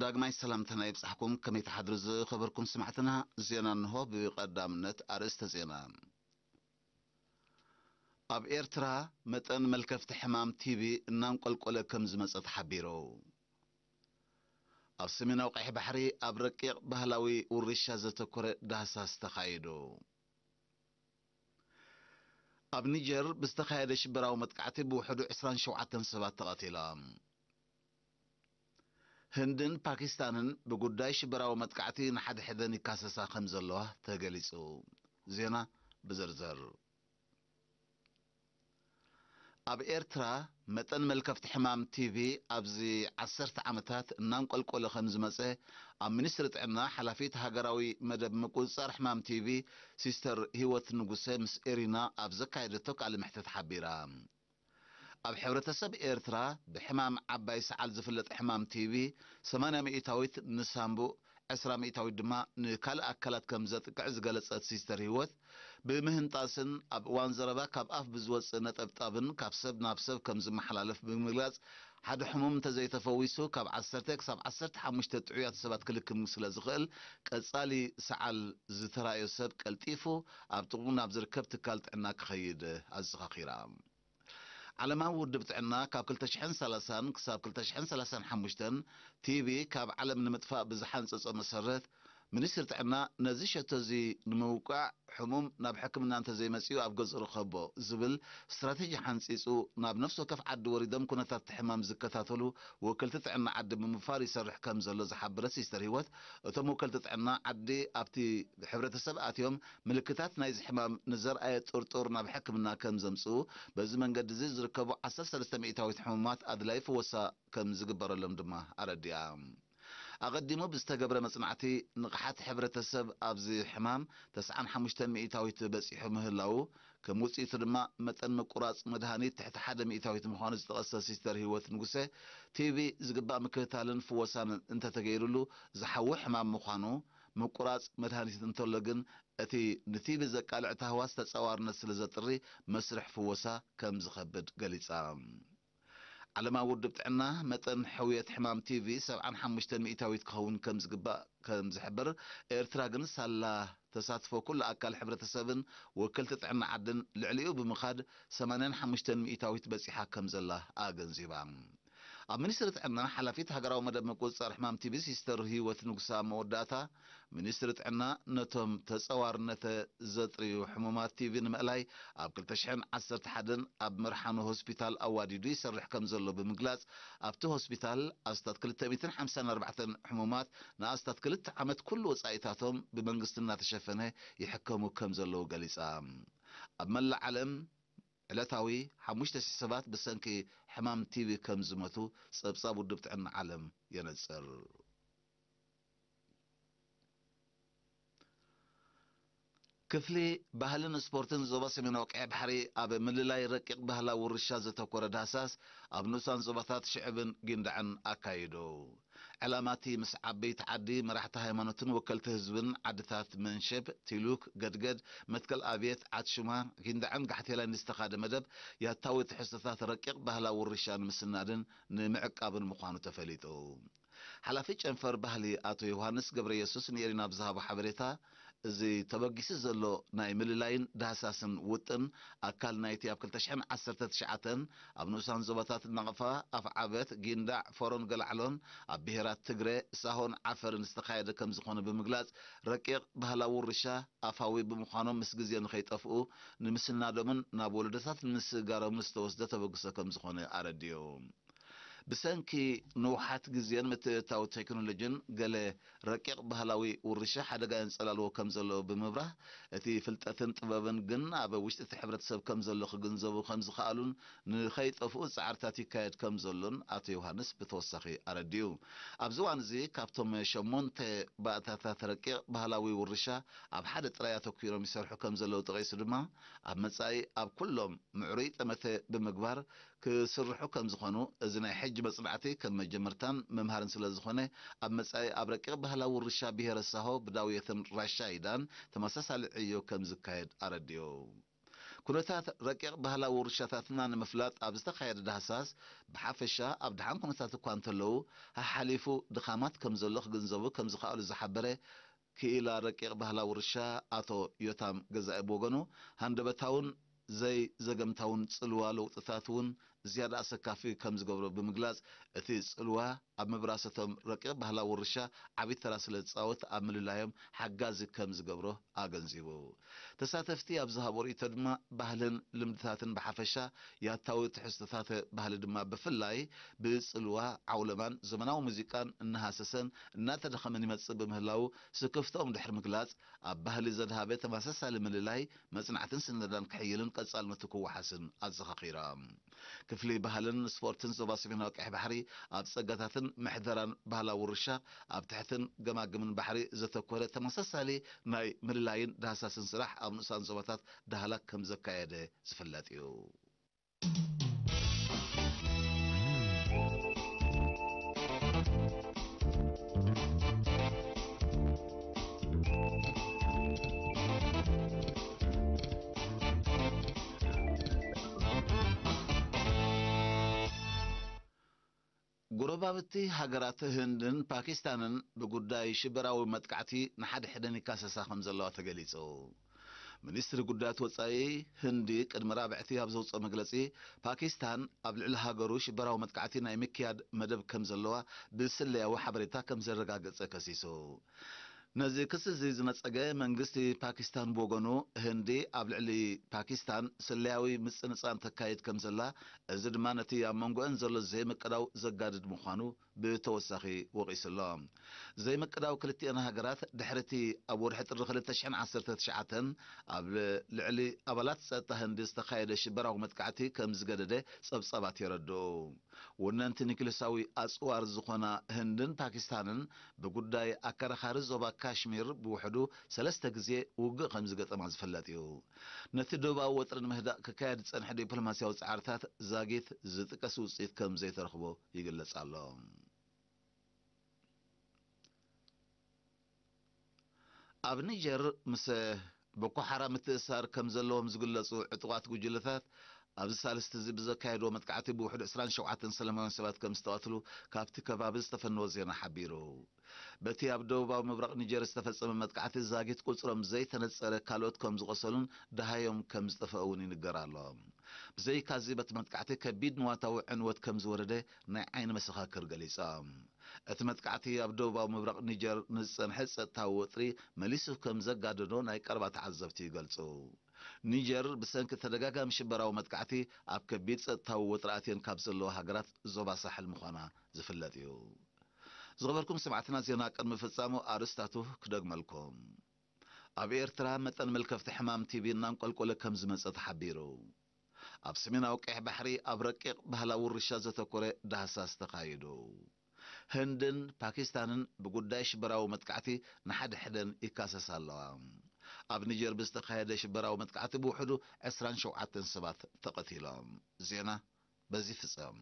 ዳግማይ ሰላምታና ይብጻሕኩም። ከመይ ትሓድሩ ዝኸበርኩም ስማዕትና? ዜና እንሆ። ብቐዳምነት ኣርእስተ ዜና። ኣብ ኤርትራ መጠን መልከፍቲ ሕማም ቲቢ እናንቆልቆለ ከም ዝመጸ ተሓቢሩ። ኣብ ሰሜናዊ ቀይሕ ባሕሪ ኣብ ረቂቕ ባህላዊ ውርሻ ዘተኮረ ዳህሳስ ተኻይዱ። ኣብ ኒጀር ብዝተኻየደ ሽበራዊ መጥቃዕቲ ብውሕዱ ዕስራን ሸውዓተን ሰባት ተቐቲሎም። ህንድን ፓኪስታንን ብጉዳይ ሽበራዊ መጥቃዕቲ ንሓድሕደን ይካሰሳ ከም ዘለዋ ተገሊጹ። ዜና ብዝርዝር። ኣብ ኤርትራ መጠን መልከፍቲ ሕማም ቲቢ ኣብዚ ዓሰርተ ዓመታት እናንቆልቆለ ከም ዝመጸ ኣብ ሚኒስትሪ ጥዕና ሓላፊት ሃገራዊ መደብ ምቁጽጻር ሕማም ቲቢ ሲስተር ህይወት ንጉሰ ምስ ኤሪና ኣብ ዘካየደቶ ቃለ መሕትት ሓቢራ። ኣብ ሕብረተሰብ ኤርትራ ብሕማም ዓባይ ሰዓል ዝፍለጥ ሕማም ቲቢ ሰማንያ ሚእታዊት ንሳምቡእ፣ ዕስራ ሚእታዊት ድማ ንካልእ ኣካላት ከም ዘጥቅዕ ዝገለጸት ሲስተር ህይወት፣ ብምህንጣስን ኣብ እዋን ዘረባ ካብ ኣፍ ብዝወጽእ ነጠብጣብን ካብ ሰብ ናብ ሰብ ከም ዝመሓላለፍ ብምግላጽ፣ ሓደ ሕሙም እንተዘይተፈዊሱ ካብ ዓሰርተ ክሳብ ዓሰርተ ሓሙሽተ ጥዑያት ሰባት ክልክም ስለ ዝኽእል፣ ቀጻሊ ሰዓል ዝተራእዮ ሰብ ቀልጢፉ ኣብ ጥቕኡ ናብ ዝርከብ ትካል ጥዕና ክኸይድ ኣዘኻኺራ። ዓለማዊ ውድብ ጥዕና ካብ ክልተ ሽሕን ሰላሳን ክሳብ ክልተ ሽሕን ሰላሳን ሓሙሽተን ቲቢ ካብ ዓለም ንምጥፋእ ብዝሓንጸጾ መሰረት፣ ሚኒስትሪ ጥዕና ነዚ ሸቶ እዚ ንምውቃዕ ሕሙም ናብ ሕክምና እንተዘይመጺኡ ኣብ ገዝኡ ርኸቦ ዝብል ስትራቴጂ ሓንጺጹ ናብ ነፍሲ ወከፍ ዓዲ ወሪዶም ኩነታት እቲ ሕማም ዝከታተሉ ወከልቲ ጥዕና ዓዲ ብምፋር ይሰርሕ ከም ዘሎ ዝሓበረት ሲስተር ህይወት፣ እቶም ወከልቲ ጥዕና ዓዲ ኣብቲ ሕብረተሰብ ኣትዮም ምልክታት ናይዚ ሕማም ንዘርኣየ ጥርጡር ናብ ሕክምና ከም ዘምጽኡ፣ በዚ መንገዲ እዚ ዝርከቡ ዓሰርተ ሰለስተ ሚእታዊት ሕሙማት ኣድላዪ ፍወሳ ከም ዝግበረሎም ድማ ኣረዲኣ። ኣቐዲሙ ብዝተገብረ መጽናዕቲ ንቕሓት ሕብረተሰብ ኣብዚ ሕማም ተስዓን ሓሙሽተን ሚእታዊት በጺሑ ምህላዉ፣ ከም ውጽኢቱ ድማ መጠን ምቁራጽ መድሃኒት ትሕቲ ሓደ ሚእታዊት ምዃኑ ዝጠቐሰ ሲስተር ህይወት ንጉሰ፣ ቲቢ ዝግባእ ምክትታልን ፍወሳን እንተተገይሩሉ ዝሓዊ ሕማም ምዃኑ፣ ምቁራጽ መድሃኒት እንተሎ ግን እቲ ንቲቢ ዘቃልዕ ታህዋስ ተጻዋርነት ስለ ዘጥሪ መስርሕ ፍወሳ ከም ዝኸብድ ገሊጻ። ዓለማዊ ውድብ ጥዕና መጠን ሕውየት ሕማም ቲቪ ሰብዓን ሓሙሽተን ሚእታዊት ክኸውን ከም ዝግባእ ከም ዝሕብር፣ ኤርትራ ግን ሳላ ተሳትፎ ኩሉ ኣካል ሕብረተሰብን ወከልቲ ጥዕና ዓድን ልዕሊኡ ብምኻድ ሰማንያን ሓሙሽተን ሚእታዊት በጺሓ ከም ዘላ ኣገንዚባ። ኣብ ሚኒስትሪ ጥዕና ሓላፊት ሃገራዊ መደብ ምቁጽጻር ሕማም ቲቪ ሲስተር ህይወት ንጉሳ መወዳእታ፣ ሚኒስትሪ ጥዕና ነቶም ተጸዋርነተ ዘጥርዩ ሕሙማት ቲቪ ንምእላይ ኣብ ክልተ ሽሕን ዓሰርተ ሓደን ኣብ መርሓኖ ሆስፒታል ኣዋዲዱ ይሰርሕ ከም ዘሎ ብምግላጽ፣ ኣብቲ ሆስፒታል ኣስታት ክልተ ሚእትን ሓምሳን ኣርባዕተን ሕሙማት ንኣስታት ክልተ ዓመት ኩሉ ወጻኢታቶም ብመንግስቲ እናተሸፈነ ይሕከሙ ከም ዘለዉ ገሊጻ። ኣብ መላእ ዓለም ዕለታዊ ሓሙሽተ ሽሕ ሰባት ብሰንኪ ሕማም ቲቪ ከም ዝሞቱ ጸብጻብ ውድብ ጥዕና ዓለም የነጽር። ክፍሊ ባህልን ስፖርትን ዞባ ሰሜናዊ ቀይሕ ባሕሪ ኣብ ምልላይ ረቂቕ ባህላዊ ውርሻ ዘተኮረ ዳህሳስ ኣብ ንኡሳን ዞባታት ሽዕብን ጊንዳዕን ኣካይዱ። ዕላማ እቲ ምስ ዓበይቲ ዓዲ፣ መራሕቲ ሃይማኖትን ወከልቲ ህዝብን ዓድታት መንሸብ፣ ቲሉክ፣ ገድገድ፣ መትከል ኣብየት፣ ዓትሹማ፣ ጊንዳዕን ጋሕቴላን ዝተኻደ መደብ ያታዊ ትሕዝቶታት ረቂቕ ባህላዊ ውርሻ ንምስናድን ንምዕቃብን ምዃኑ ተፈሊጡ። ሓላፊ ጨንፈር ባህሊ ኣቶ ዮሃንስ ገብረየሱስ ንኤሪና ብዝሃቦ ሓበሬታ፣ እዚ ተበጊሱ ዘሎ ናይ ምልላይን ዳህሳስን ውጥን ኣካል ናይቲ ኣብ ክልተ ሽሕን ዓሰርተ ትሽዓተን ኣብ ንኡሳን ዞባታት ናቕፋ፣ ኣፍዓበት፣ ጊንዳዕ፣ ፎሮን ገላዕሎን ኣብ ብሄራት ትግረ፣ ሳሆን ዓፈርን ዝተኻየደ ከም ዝኾነ ብምግላጽ፣ ረቂቕ ባህላዊ ውርሻ ኣፋዊ ብምዃኖም ምስ ግዜ ንኸይጠፍኡ ንምስናዶምን ናብ ወለዶታት ንምስግጋሮምን ዝተወስደ ተበግሶ ከም ዝኾነ ኣረዲኡ። ብሰንኪ ንውሓት ግዜን ምትእትታው ቴክኖሎጂን ገለ ረቂቕ ባህላዊ ውርሻ ሓደጋ የንጸላልዎ ከም ዘሎ ብምብራህ፣ እቲ ፍልጠትን ጥበብን ግን ኣብ ውሽጢ እቲ ሕብረተሰብ ከም ዘሎ ክግንዘቡ ከም ዝኸኣሉን ንኸይጠፍኡ ጻዕርታት ይካየድ ከም ዘሎን ኣቶ ዮሃንስ ብተወሳኺ ኣረዲኡ። ኣብዚ እዋን እዚ ካብቶም ሸሞንተ ባእታታት ረቂቕ ባህላዊ ውርሻ ኣብ ሓደ ጥራይ ኣተኲሮም ይሰርሑ ከም ዘለዉ ጠቒሱ ድማ፣ ኣብ መጻኢ ኣብ ኩሎም ምዕሩይ ጠመተ ብምግባር ክስርሑ ከም ዝኾኑ፣ እዚ ናይ ሕጂ መጽናዕቲ ከም መጀመርታን መምሃርን ስለ ዝኾነ፣ ኣብ መጻኢ ኣብ ረቂቕ ባህላዊ ውርሻ ብሄረ ሳሆ ብዳውየትን ራሻይዳን ተመሳሳሊ ዕዮ ከም ዝካየድ ኣረዲኡ። ኩነታት ረቂቕ ባህላዊ ውርሻታትና ንምፍላጥ ኣብ ዝተኻየደ ዳህሳስ፣ ብሓፈሻ ኣብ ደሓን ኩነታት እኳ እንተለዉ፣ ሓሓሊፉ ድኻማት ከም ዘሎ ክግንዘቡ ከም ዝኸኣሉ ዝሓበረ ክኢላ ረቂቕ ባህላዊ ውርሻ ኣቶ ዮታም ገዛኢ ብወገኑ፣ ሃንደበታውን ዘይዘገምታውን ጽልዋ ለውጥታት እውን ዝያዳ ኣሰካፊ ከም ዝገብሮ ብምግላጽ፣ እቲ ጽልዋ ኣብ ምብራሰቶም ረቂቕ ባህላዊ ውርሻ ዓቢ ተራ ስለ ዝጻወት፣ ኣብ ምልላዮም ሓጋዚ ከም ዝገብሮ ኣገንዚቡ። ተሳተፍቲ ኣብ ዝሃቦ ርእይቶ ድማ፣ ባህልን ልምድታትን ብሓፈሻ፣ ያታዊ ትሕዝቶታት ባህሊ ድማ ብፍላይ ብጽልዋ፣ ዓውለማን ዘመናዊ ሙዚቃን እናሃሰሰን እናተደኸመን ይመጽእ ብምህላዉ፣ ስክፍትኦም ድሕሪ ምግላጽ፣ ኣብ ባህሊ ዘድሃበ ተመሳሳሊ ምልላይ፣ መጽናዕትን ስነዳን ክሕይልን ቀጻልነቱ ክወሓስን ኣዘኻኺሮም። ክፍሊ ባህልን ስፖርትን ዞባ ሰሜናዊ ቀይሕ ባሕሪ፣ ኣብ ጸጋታትን ምሕደራን ባህላዊ ውርሻ፣ ኣብ ትሕትን ገማግምን ባሕሪ ዘተኮረ ተመሳሳሊ ናይ ምልላይን ዳህሳስን ስራሕ ኣብ ንኡሳን ዞባታት ዳህላክ ከም ዘካየደ ዝፍለጥ እዩ። ጎረባብቲ ሃገራት ህንድን ፓኪስታንን ብጉዳይ ሽበራዊ መጥቃዕቲ ንሓድሕደን ይካሰሳ ከም ዘለዋ ተገሊጹ። ሚኒስትሪ ጉዳያት ወጻኢ ህንዲ ቅድሚ ራብዕቲ ኣብ ዘውጽኦ መግለጺ፣ ፓኪስታን ኣብ ልዕሊ ሃገሩ ሽበራዊ መጥቃዕቲ ናይ ምክያድ መደብ ከም ዘለዋ ብስለያዊ ሓበሬታ ከም ዘረጋገጸ ከሲሱ። ነዚ ክሲ እዚ ዝነጸገ መንግስቲ ፓኪስታን ብወገኑ፣ ህንዲ ኣብ ልዕሊ ፓኪስታን ስለያዊ ምጽንጻን ተካይድ ከም ዘላ፣ እዚ ድማ ነቲ ኣብ መንጎአን ዘሎ ዘይምቅዳው ዘጋድድ ምዃኑ ብተወሳኺ ወቒሱ ኣሎ። ዘይምቅዳው ክልቲአን ሃገራት ድሕሪ እቲ ኣብ ወርሒ ጥሪ ክልተ ሽሕን ዓሰርተ ትሽዓተን ኣብ ልዕሊ ኣባላት ጸጥታ ህንዲ ዝተኻየደ ሽበራዊ መጥቃዕቲ ከም ዝገደደ ጸብጻባት የረድኡ። ወነንቲ ኒክለሳዊ ኣጽዋር ዝኾና ህንድን ፓኪስታንን ብጉዳይ ኣከራኻሪ ዞባ ካሽሚር ብውሕዱ ሰለስተ ግዜ ውግእ ከም ዝገጠማ ዝፍለጥ እዩ። ነቲ ዶባዊ ወጥሪ ንምህዳእ ክካየድ ዝጸንሐ ዲፕሎማስያዊ ጻዕርታት ዛጊት ዝጥቀስ ውጽኢት ከም ዘይተረኽቦ ይግለጽ ኣሎ። ኣብ ኒጀር ምስ ቦኮ ሓራም ምትእስሳር ከም ዘለዎም ዝግለጹ ዕጡቓት ጉጅለታት፣ ኣብዚ ሳልስቲ እዚ ብዘካየድዎ መጥቃዕቲ ብውሕዱ ዕስራን ሸውዓተን ሰላማውያን ሰባት ከም ዝተቐትሉ ካብቲ ከባቢ ዝተፈነወ ዜና ሓቢሩ። በቲ ኣብ ደቡባዊ ምብራቕ ኒጀር ዝተፈጸመ መጥቃዕቲ ዛጊት ቁጽሮም ዘይተነጸረ ካልኦት ከም ዝቖሰሉን ደሃዮም ከም ዝጠፍአ እውን ይንገር ኣሎ። ብዘይካዚ በቲ መጥቃዕቲ ከቢድ ንዋታዊ ዕንወት ከም ዝወረደ ናይ ዓይኒ መሰኻክር ገሊጾም። እቲ መጥቃዕቲ ኣብ ደቡባዊ ምብራቕ ኒጀር ንዝጸንሐ ጸጥታዊ ወጥሪ መሊሱ ከም ዘጋደዶ ናይ ቀረባ ተዓዘብቲ ይገልጹ። ኒጀር ብሰንኪ ተደጋጋሚ ሽበራዊ መጥቃዕቲ ኣብ ከቢድ ጸጥታዊ ወጥሪ ኣትየን ካብ ዘለዋ ሃገራት ዞባ ሳሕል ምዃና ዝፍለጥ እዩ። ዝኸበርኩም ሰማዕትና፣ ዜና ቅድሚ ፍጻሙ ኣርእስታቱ ክደግመልኩም። ኣብ ኤርትራ መጠን መልከፍቲ ሕማም ቲቢ እናንቆልቆለ ከም ዝመጸ ተሓቢሩ። ኣብ ሰሜናዊ ቀይሕ ባሕሪ ኣብ ረቂቕ ባህላዊ ውርሻ ዘተኮረ ዳህሳስ ተኻይዱ። ህንድን ፓኪስታንን ብጉዳይ ሽበራዊ መጥቃዕቲ ንሓድሕደን ይካሰሳ ኣለዋ። ኣብ ኒጀር ብዝተኻየደ ሽበራዊ መጥቃዕቲ ብውሕዱ ዕስራን ሸውዓተን ሰባት ተቐቲሎም። ዜና በዚ ፍጸም።